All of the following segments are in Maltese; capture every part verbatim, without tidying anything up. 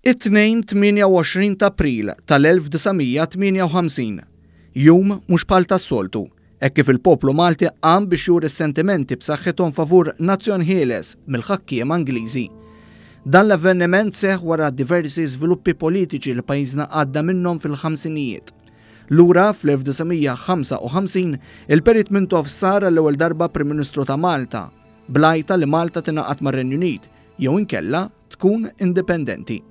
It-Tnejn tmienja u għoxrin ta' April tal-elf disa' mija tmienja u ħamsin, jum mhux bħal tas-soltu, hekk kif il-poplu Malti qam biex juri s-sentimenti b'saħħithom favur nazzjon ħieles mill-ħakkiema Ingliżi. Dan l-avveniment seħħ wara diversi żviluppi politiċi li pajjiżna għadda minnhom fil-ħamsinijiet. Lura fl-elf disa' mija ħamsa u ħamsin, il-Perit Mintoff sar għall-ewwel darba Prim Ministru ta' Malta, bl-għajta li Malta tingħaqad mar-Renju Unit jew inkella tkun indipendenti.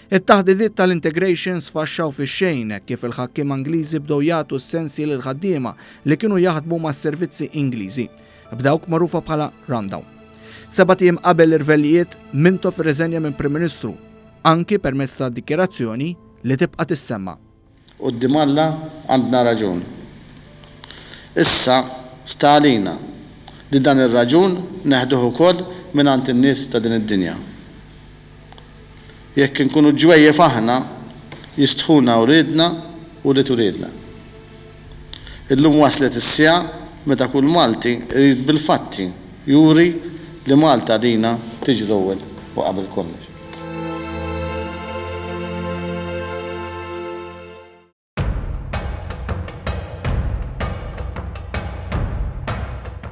It-taħdidiet tal-integration sfaxxaw fix-xejn hekk kif il-ħakkiema Ingliżi bdew jagħtu s-sensi lil ħaddiema li kienu jaħdmu mas-servizzi Ingliżi, b'dawk magħrufa bħala rundown. Sebat ijiem qabel l-irvellijiet, Mintoff irriżenja minn Prim Ministru, anki permezz ta' dikjerazzjoni li tibqa' tissemma. Quddiem Alla għandna raġun. Issa sta għalina li dan ir-raġun neħduh ukoll mingħand in-nies ta' din id-dinja. Jekk inkunu ġwejjef aħna, jistħuna wliedna u li turidna. Illum waslet is-siegħa meta kull Malti irid bil-fatti juri li Malta għalina tiġi l-ewwel u qabel kollox.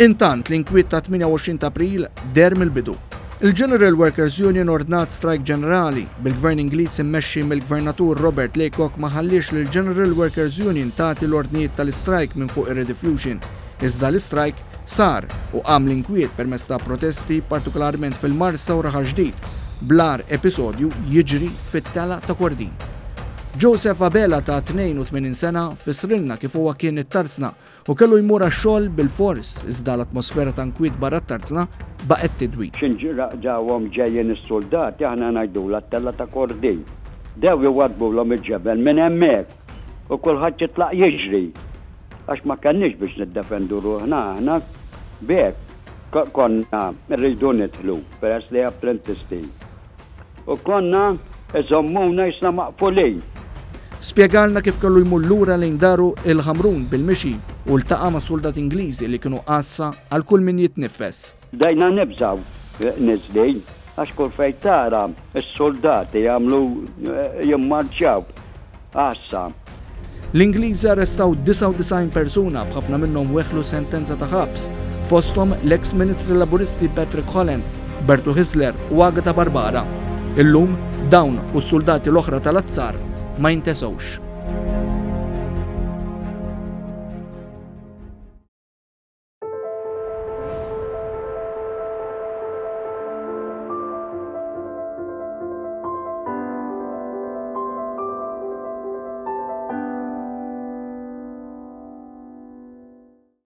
Intant l-inkwiet ta' tmienja u għoxrin ta' April deher mill-bidu. Il-General Workers Union ordnat strajk ġenerali bil-Gvern Ingliż immexxi mill-Gvernatur Robert Laycock ma ħalliex lil General Workers Union tagħti l-ordnijiet tal-istrajk minn fuq ir-Rediffusion. Iżda l-istrajk sar u qam l-inkwiet permezz ta' protesti partikolarment fil-Marsa u Raħal Ġdid, bl-agħar episodju jiġri fit-tela ta' Kordin. Joseph Abela ta' tnejn u tmenin sena fissrilna kif huwa kien it-tarzna u kellu jmur għax-xogħol bil-fors iżda l-atmosfera ta' nkwiet barra t-tarzna baqgħet tidwi. X'inġra ġawhom ġejjin is-soldati aħna ngħidulha t-tella ta' Kordin. Dew iwadbulhom il-ġebel minn hemmhekk u kulħadd jitlaq jiġri. Għax ma kenniex biex niddefendu ruħna aħna b'hekk konna rridu nidħlu peress li apprentisti. U konna iżommuna jisna maqfulin. Spjegalna kif kellu jmur lura lejn daru il-Ħamrun bil-mixi u ltaqa' ma' soldat Ingliżi li kienu qassa għal kull min jitnifes. Bdejna nibżaw niżlin għax kull fejn tara s-soldati jagħmlu jimmarċjaw għassa. L-Ingliżi arrestaw disgħa u disgħin persuna b'ħafna minnhom weħlu sentenza ta' ħabs, fosthom l-eks Ministri Laburisti Patrick Holland, Bertu Hyzler u Agatha Barbara. Illum dawn u s-soldati l-oħra tal-azzar ma jintesewx.